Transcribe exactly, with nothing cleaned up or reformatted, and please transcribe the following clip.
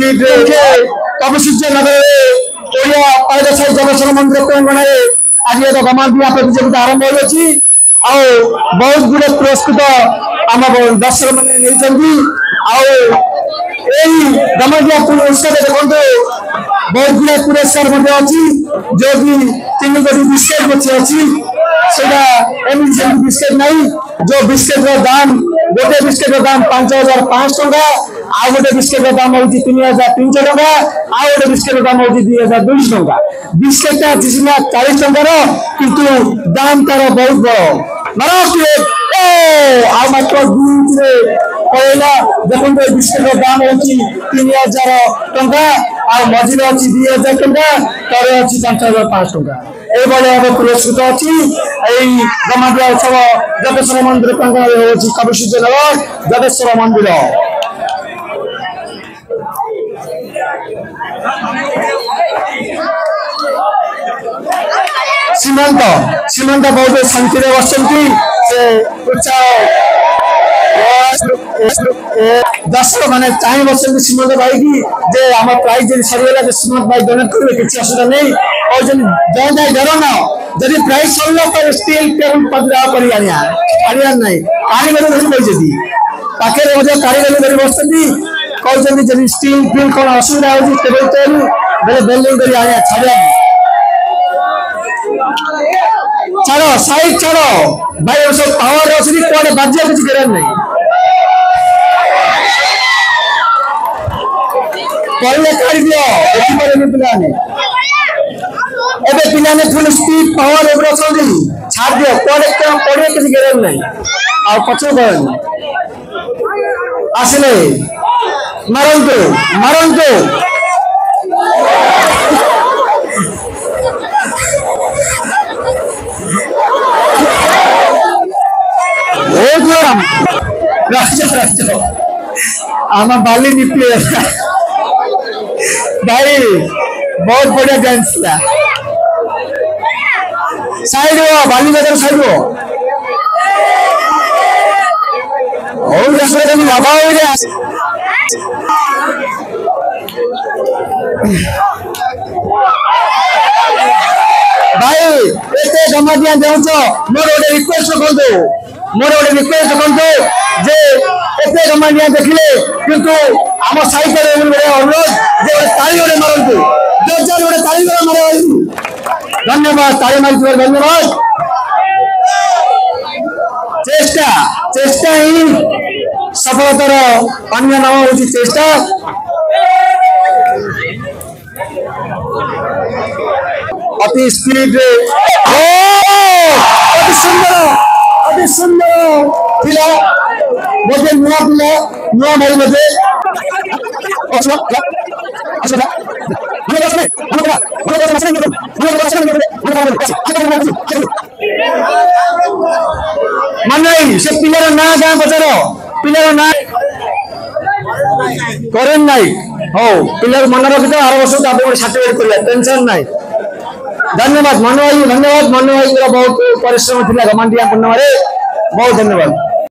ସ୍ପିଡରେ କବିସୂର୍ଯ୍ୟ ନଗରରେ ଓଡ଼ିଆ ପାଇକସାହି ଜଗେଶ୍ୱର ମନ୍ଦିର ପ୍ରାଙ୍ଗଣରେ ଆଜି ଏକ ଗମାଦିଆ ପ୍ରତିଯୋଗିତା ଆରମ୍ଭ ହୋଇଅଛି। ଆଉ ବହୁତ ଗୁଡେ ପୁରସ୍କୃତ ଆମ ଦର୍ଶକ ମାନେ ନେଇଛନ୍ତି। ଆଉ ଏଇ ଗମାଦିଆ ଉତ୍ସବ ଦେଖନ୍ତୁ, ବହୁତ ଗୁଡେ ପୁରସ୍କାର ମଧ୍ୟ ଅଛି, ଯୋଉକି ତିନି ଗୋଟି ବିସ୍କେଟ ମଧ୍ୟ ଅଛି। ସେଇଟା ଏମିତି ସେମିତି ବିସ୍କେଟ ନାହିଁ, ଯୋଉ ବିସ୍କେଟର ଦାମ, ଗୋଟେ ବିସ୍କେଟର ଦାମ ପାଞ୍ଚ ହଜାର ପାଞ୍ଚଶହ ଟଙ୍କା, ଆଉ ଗୋଟେ ବିସ୍କେଟର ଦାମ ହଉଛି ତିନି ହଜାର ତିନିଶହ ଟଙ୍କା, ଆଉ ଗୋଟେ ବିସ୍କେଟର ଦାମ ହଉଛି ଦୁଇ ହଜାର ଦୁଇଶହ ଟଙ୍କା। ବିସ୍କେଟଟା ଅଛି ସିନା ଚାଳିଶ ଟଙ୍କାର, କିନ୍ତୁ ଦାମ ତାର ବହୁତ ବଡ। ମାର, ଓ ଆଉ ମାତ୍ର ଦୁଇ ଇଞ୍ଚରେ ପଳେଇଲା। ଦେଖନ୍ତୁ, ଏ ବିସ୍କେଟର ଦାମ ହଉଛି ତିନି ହଜାର ଟଙ୍କା, ଆଉ ମଝିରେ ଅଛି ଦୁଇ ହଜାର ଟଙ୍କା, ତଳେ ଅଛି ପାଞ୍ଚ ହଜାର ପାଞ୍ଚଶହ ଟଙ୍କା। ଏଇଭଳି ଭାବେ ପୁରସ୍କୃତ ଅଛି ଏଇ ଗମାଦିଆ ଉତ୍ସବ ଜଗେଶ୍ୱର ମନ୍ଦିର ପ୍ରାଙ୍ଗଣରେ ହେଉଛି, କବିସୂର୍ଯ୍ୟ ନଗର ଜଗେଶ୍ୱର ମନ୍ଦିର। ସୀମାନ୍ତ ସୀମାନ୍ତ ବହୁତ ଶାନ୍ତିରେ ବସିଛନ୍ତି। ସେ ଉତ୍ସାହ ଦର୍ଶକ ମାନେ ଚାହିଁ ବସିଛନ୍ତି ସୀମାନ୍ତ ଭାଇକି ଯେ ଆମ ପ୍ରାଇଜ ଯଦି ସରିଗଲା ଯେ ସୀମାନ୍ତ ଭାଇ ଡୋନେଟ୍ କରିବେ, କିଛି ଅସୁବିଧା ନେଇ କହୁଛନ୍ତି। ଜୟ ଜୟ ଜଗନ୍ନାଥ। ଯଦି ପ୍ରାଇଜ ସରିଲା ତାହେଲେ ଷ୍ଟିଲ୍ ଟେବୁଲ ପଞ୍ଜରା କରି ଆଣିବା, ଆଣିବାର ନାହିଁ। କାରିଗର ଧରି ବସିଛନ୍ତି, ପାଖରେ ମଧ୍ୟ କାରିଗର ଧରି ବସିଛନ୍ତି। କହୁଛନ୍ତି ଯଦି ଷ୍ଟିଲ୍ ଫିଲ୍ କଣ ଅସୁବିଧା ହଉଛି ଟେବୁଲ ତିଆରି ବେଲେ ବେଲ୍ଡିଂ କରି ଆଣିବା, ଛାଡ଼ିବା। ଛାଡ଼, ସାଇଡ୍ ଛାଡ଼ ଭାଇ। ଏବେ ସବୁ ପାୱାର ଅଛନ୍ତି, କୁଆଡେ ବାଜିବା କିଛି କରିବାର ନାହିଁ। ପଡ଼ିଲେ କାଢିଦିଅ, ଦେଖିପାରିବେନି ପିଲାମାନେ। ଏବେ ପିଲାମାନେ ଫୁଲ ସ୍ପିଡ ପାୱାର ଉପରେ ଅଛନ୍ତି। ଛାଡ଼ି ଦିଅ, କୁଆଡେ କଣ ପଡ଼ିବ କିଛି ଗ୍ୟାରେଣ୍ଟି ନାହିଁ। ଆଉ ପଛକୁ କରନି। ଆସିଲେ, ମାରନ୍ତୁ ମାରନ୍ତୁ। ରାଜ ରାଜ ଆମ ବାଲି ନିପି ଭାଇ, ବହୁତ ବଢିଆ ଡ୍ୟାନ୍ସ ଥିଲା। ସାଇଡ ହୁଅ, ବାଲି ବଜାର ସାଇଡ ହୁଅ। ହଉ, ବାବା ଭାଇ, ଏତେ ଗମାଦିଆ ଦେଉଛ, ମୋର ଗୋଟେ ରିକ୍ୱେଷ୍ଟ ରଖନ୍ତୁ, ମୋର ଗୋଟେ ରିକ୍ୱେଷ୍ଟ ରଖନ୍ତୁ ଯେ ଏତେ ଗମାଦିଆ ଦେଖିଲେ, କିନ୍ତୁ ଆମ ସାହିତ୍ୟରେ ଗୋଟେ ଅନୁରୋଧ ଯେ ଗୋଟେ ତାଳି ଗୋଟେ ମାରନ୍ତୁ, ଜୋରଜାର ଗୋଟେ ତାଳି ଗୋଟେ ମାର। ଧନ୍ୟବାଦ, ତାଳି ମାରିଥିବାରୁ ଧନ୍ୟବାଦ। ଚେଷ୍ଟା ଚେଷ୍ଟା ହିଁ ସଫଳତାର ଅନ୍ୟ ନାମ ହଉଛି ଚେଷ୍ଟା। ଅତି ସ୍ପିଡରେ, ଅତି ସୁନ୍ଦର, ଅତି ସୁନ୍ଦର ଥିଲା। ବୋଧେ ନୂଆ ପିଲା, ନୂଆ ଭାଇ ବୋଧେ। ମାନେ ସେ ପିଲାର ନାଁ ଗାଁ ପଚାର, ପିଲାର ନାଁ। କରେନ ନାଇକ। ହଉ, ପିଲାର ମନେ ରଖିଥାଅ, ଆର ବର୍ଷ ତାପରେ ଗୋଟେ ସାର୍ଟିଫିକେଟ କରିବା, ଟେନସନ ନାହିଁ। ଧନ୍ୟବାଦ ମନୁ ଭାଇ, ଧନ୍ୟବାଦ। ମନୁ ଭାଇଙ୍କର ବହୁତ ପରିଶ୍ରମ ଥିଲା ଗମାଣ୍ଡିଆ ପୂର୍ଣ୍ଣିମାରେ। ବହୁତ ଧନ୍ୟବାଦ।